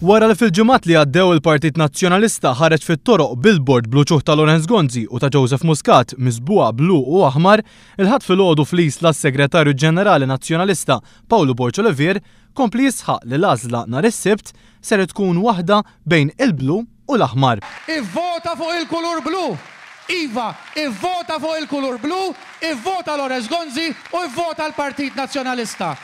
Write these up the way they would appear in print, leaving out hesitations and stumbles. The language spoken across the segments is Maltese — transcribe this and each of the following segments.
Wara li fil-ġimgħat li għaddew il-Partit Nazzjonalista ħareġ fit-toroq billboard bl-uċuħ ta' Lawrence Gonzi u ta' Joseph Muscat miżbugħa blu u aħmar, il-Ħadd filgħodu fl-Isla s-Segretarju Ġenerali Nazzjonalista Pawlu Borg Olivier kompli jisħaq li l-għażla nhar is-Sibt ser tkun waħda bejn il-blu u l-aħmar. Ivvota fuq il-kulur blu! Iva, ivvota fuq il-kulur blu, ivvota Lawrence Gonzi u ivvota l-Partit Nazzjonalista.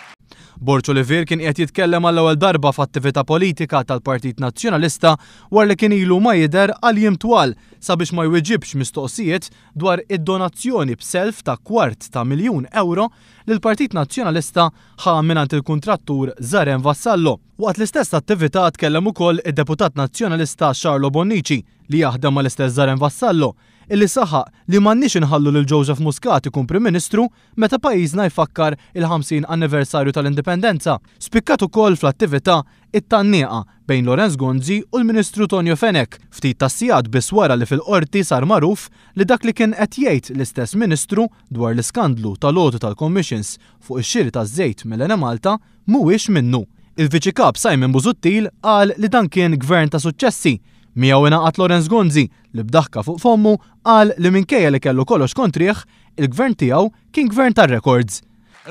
Borg Olivier kien qiegħed jitkellem għall-ewwel darba f'attività politika tal-Partit Nazzjonalista wara li kien ilu ma jidher għal jiem twal sabiex ma jwiġibx mistoqsijiet dwar id-donazzjoni b'self ta' kwart ta' miljun ewro li l-Partit Nazzjonalista ħa mingħand il-kuntrattur Zaren Vassallo. Waqt l-istess attività tkellem ukoll id-Deputat Nazzjonalista Charlo Bonnici, li jaħdem mal-istess Zaren Vassallo, illi saħaq li m'għandniex inħallu lil Joseph Muscat ikun Prim Ministru meta pajjiżna jfakkar il-50 anniversarju tal-Indipendenza. Spikkat ukoll fl-attività it-tgħanniqa bejn Lawrence Gonzi u l-Ministru Tonio Fenech, ftit tas-sigħat biss wara li fil-Qorti sar magħruf li dak li kien qed jgħid l-istess Ministru dwar l-iskandlu tal-għoti tal-commissions fuq ix-xiri taż-żejt mill-Enemalta mhuwiex minnu. Il-Viċi Kap Simon Busuttil qal li dan kien Gvern ta' suċċessi. Miegħu ingħaqad Lawrence Gonzi li b'daħka fuq fommu qal li minkejja li kellu kollox kontrih, il-Gvern tiegħu kien Gvern tar-rekords.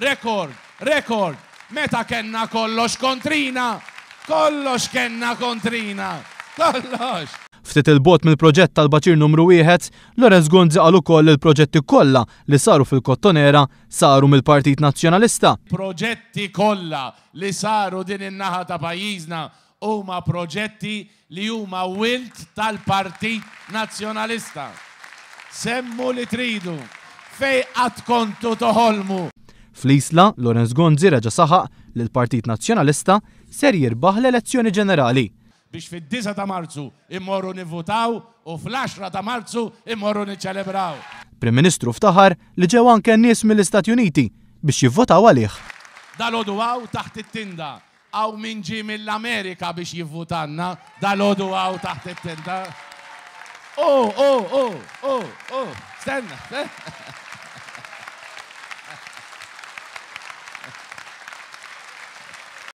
Rekord, rekord, meta kellna kollox kontrina, kollox kellna kontrina, kollox! Ftit 'il bogħod mill-proġett tal-baċir numru wieħed, Lawrence Gonzi qal ukoll li l-proġetti kollha li saru fil-Kottonera saru mill-Partit Nazzjonalista. Proġetti kollha li saru din in-naħa ta' pajjiżna huma proġetti li huma wild tal-Partit Nazzjonalista. Semmu li tridu. Fejn qatt kontu toħolmu? Fl-Isla, Lawrence Gonzi reġa' saħaq li l-Partit Nazzjonalista ser jirbaħ l-elezzjoni ġenerali. Biex fid-disgħa ta' Marzu immorru nivvutaw u fl-għaxra ta' Marzu immorru niċċelebraw. Prim Ministru ftaħar li ġew anke nies mill-Istati Uniti biex jivvotaw għalih. Dalgħodu hawn taħt it-tinda hawn min ġie mill-Amerika biex jivvutalna dalgħodu hawn taħt it-tinda. U, u, u, u, u, stenna, stenna.